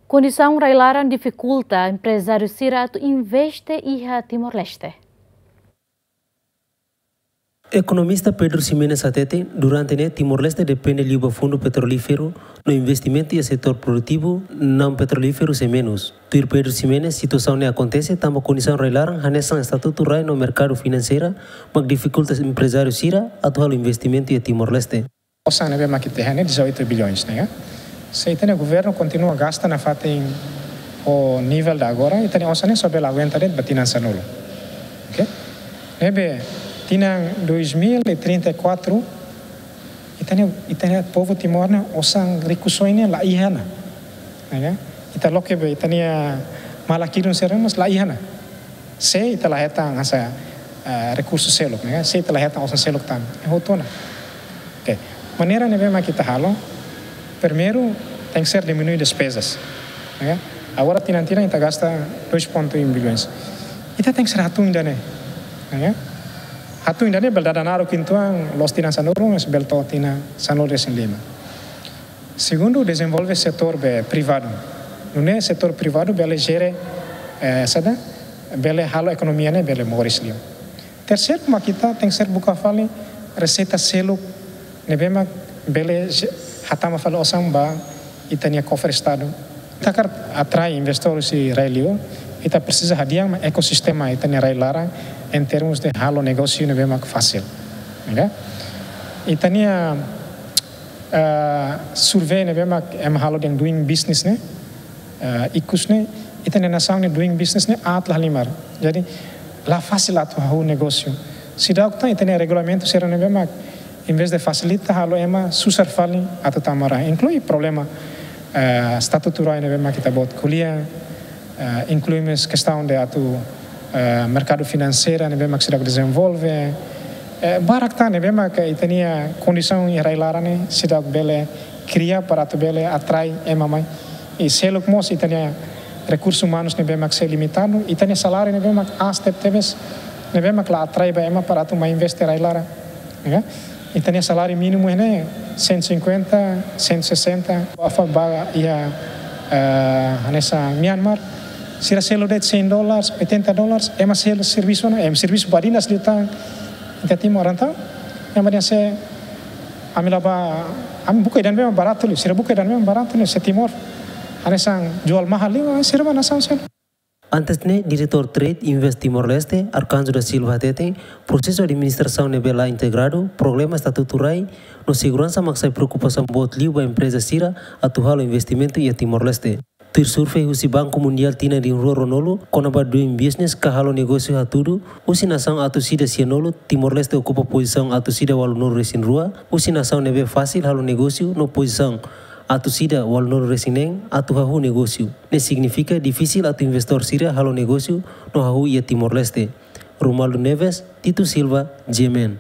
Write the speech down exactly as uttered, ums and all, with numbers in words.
Kondisaun rai-laran difikulta emprezáriu sira atu investe iha Timor-Leste. Ekonomista Pedro Ximenes hateten, durante ne'e Timor-Leste depende liu ba fundu petrolíferu, no investimentu iha setór produtivu naun petrolíferu sei menus. Tuir Pedro Ximenes, situasaun ne'e akontese tanba kondisaun rai-laran hanesan estatutu rai no merkadu finanseira mak difikulta emprezáriu sira atu halo investimentu iha Timor-Leste. Osan ne'ebé mak ita iha ne'e dezoito bilhões ne'e, ya. Se ita-nia governu kontinua gasta nafatin ho nivel ida agora, ita-nia osan ne'e só bele aguenta de'it ba tinan sanulu. Oke? Ne'ebé tinan dois mil e trinta e quatro, ita-nia, ita-nia povu Timor ne'e osan rikusoin ne'e la iha ona. Ya. Ita loke be ita-nia malak idun sira mós la iha ona. Se ita la hetan hanesan, eh, rekursu seluk, ne'e? Se ita la hetan osan seluk tan, eh, hotu ona. Oke. Maneira ne'ebé mak ita halo, primeiru, tenke ser diminui despezas, ne'e? Agora tinan-tinan ita gasta dois ponto um bilhões. Ita tenke ser hatún ida-ne'e, ne'e? Hatún ida-ne'e bele dada naruk uitoan, loos tinan sanulu, mas bele to'o tinan sanulu-resin-lima. Segundu, dezenvolve setór be privadu. Nune'e setór privadu bele jere, eh, saida, bele halo ekonomia ne'e bele moris liu. Terseiru, mak ita tenke ser buka fali reseita seluk ne'ebé mak bele je-, hatama fali osan ba ita-nia kofre Estadu. Ita hakarak atrai investidór husi rai-liur, ita presiza hadi'a mak ekosistema ita-nia rai-laran, em termos de halo negósiu ne'ebé mak fasil. Oke? Ita-nia, eh, survey ne'ebé mak ema halo dehan Doing Business ne'e, eh, ikus ne'e, ita-nia nasaun nia doing business ne'e aat la halimar. Jadi, la fasil atu hahú negósiu. Seidauk tan ita-nia regulamentu sira ne'ebé mak, em vez de fasilita, halo ema susar fali atu tama rai. Inklui problema, eh, estatutu rai ne'ebé mak ita-boot ko'alia, eh, inklui mós kestaun de atu, eh, merkadu finanseira ne'ebé mak seidauk dezenvolve. Eh, barak tan ne'ebé mak ita-nia kondisaun iha rai-laran ne'e seidauk bele kria para atu bele atrai ema mai. I seluk mós ita-nia rekursus umanus ne'ebé mak sei limitadu, ita-nia saláriu ne'ebé mak aas tebetebes, ne'ebé mak la atrai ba ema para atu mai investe rai-laran. Ya? Ita-nia saláriu mínimu ne'e cento e cinquenta, cento e sessenta, afa ba iha, eh, hanesan Myanmar, sira selu de'it cem dólares, oitenta dólares, ema selu servisu ona, ema servisu badinas liután, ita Timor entaun, ema dehan se, ami la bá, ami buka ida-ne'ebé baratu liu, sira buka ida-ne'ebé baratu liu, se Timor hanesan jual mahal liu, sira bá nasaun seluk. Antes ne'e, Diretór Trade Invest Timor-Leste, Arcanjo da Silva hateten, prosesu administrasaun ne'ebé la integradu, problema estatutu rai, no seguransa mak sai preokupasaun boot liu ba empreza sira atu halo investimentu iha Timor-Leste. Tuir survey husi Banku Mundiál tinan rihun rua ruanulu, kona-ba doing business ka halo negósiu hatudu, husi nasaun atus ida sianulu, Timor-Leste okupa pozisaun atus ida ualunulu-resin-rua, husi nasaun ne'ebé fasil halo negósiu, no pozisaun atus ida ualunulu-resin-neen atu hahú negósiu. Ne'e signifika difisil atu investidór sira halo negósiu no hahú iha Timor-Leste. Romualdo Neves, Tito Silva, G M N.